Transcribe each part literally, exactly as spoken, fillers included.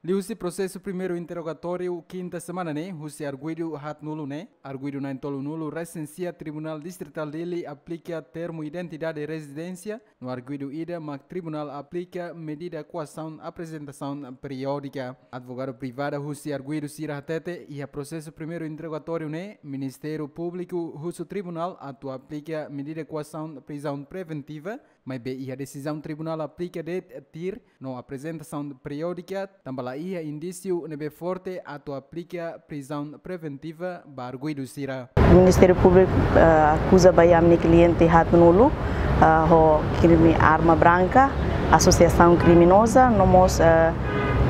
Liuhusi prosesu primeiru interrogatóriu kinta semana ne'e, husi arguidu haatnulu ne'e, arguidu na'in-tolunulu resensia Tribunál Distritál Dili aplika termu identidade rezidénsia, no arguidu ida mak tribunál aplika medida koasaun aprezentasaun periódika. Advogadu privada husi arguidu sira hatete, iha prosesu primeiru interrogatóriu ne'e, Ministériu Públiku husu tribunál atu aplika medida koasaun prizaun preventiva, maibé iha desizaun tribunál aplika de'it tuir no aprezentasaun periódika, tanba la iha indísiu ne'ebé forte atu aplika prizaun preventiva ba arguidu sira. Ministériu Públiku, eh, akuza ba ami-nia kliente haatnulu, eh, ho krime arma branka, asosiasaun kriminoza, no mós, eh,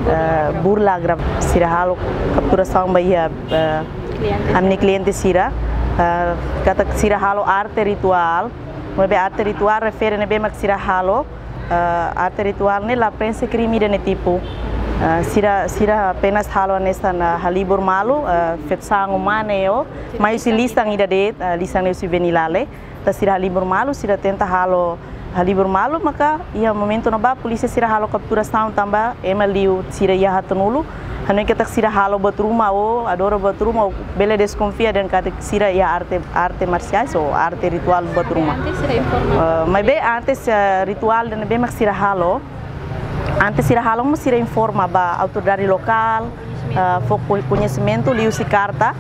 eh, burla agrav-, sira halo kapturasaun ba iha, eh, ami-nia kliente sira, eh, katak sira halo arte rituál, maibé arte rituál refere ne'ebé mak sira halo, eh, arte rituál ne'e la prenxe krime ida-ne'e tipu. Eh, sira, sira apenas halo hanesan, eh, halibur malu, eh, feto-saan umane o, mai husi lisan ida de'it, eh, lisan ne'e husi Venilale. Entaun sira halibur malu, sira tenta halo halibur malu, maka iha momentu ne'ebá polísia sira halo kapturasaun tanba ema liu sira iha haatnulu. Hanoin katak sira halo buat ruma o, adora buat ruma o, bele deskonfia dehan katak sira iha arte, arte marsiais o arte rituál buat ruma. Antes sira informa. Eh, maibé antes, eh, rituál ida-ne'ebé mak sira halo, antes sira halo mós sira informa ba autoridade lokál, eh, fó ko-, koñesimentu liuhusi karta.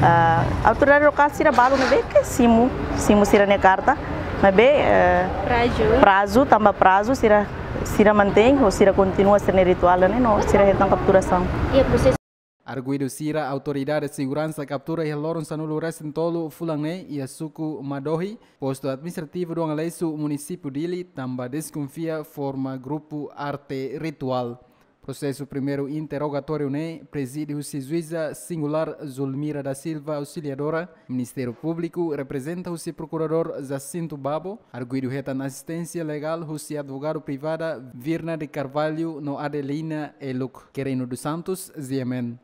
Eh, autoridade lokál sira balu ne'ebé ke simu, simu sira-nia karta. Maibé, eh, prazu. Prazu, tanba prazu sira, sira mantein, ou sira kontinua sira-nia rituál ne'e, no sira hetan kapturasaun. Iha prosesu. Arguidu sira autoridade seguransa kaptura iha loron sanulu-resin-tolu fulan ne'e iha suku Madohi, postu administrativu Doang Lesu, munisípiu Dili, tanba deskonfia forma grupu arte rituál. Prosesu primeiru interrogatóriu ne'e prezide husi juíza singulár Zulmira da Silva Auxiliadora, Ministériu Públiku reprezenta husi prokuradór Jacinto Babo, arguidu hetan asisténsia legál husi advogadu privada Virna de Carvalho no Adelina Eluk. Querino dos Santos, G M N.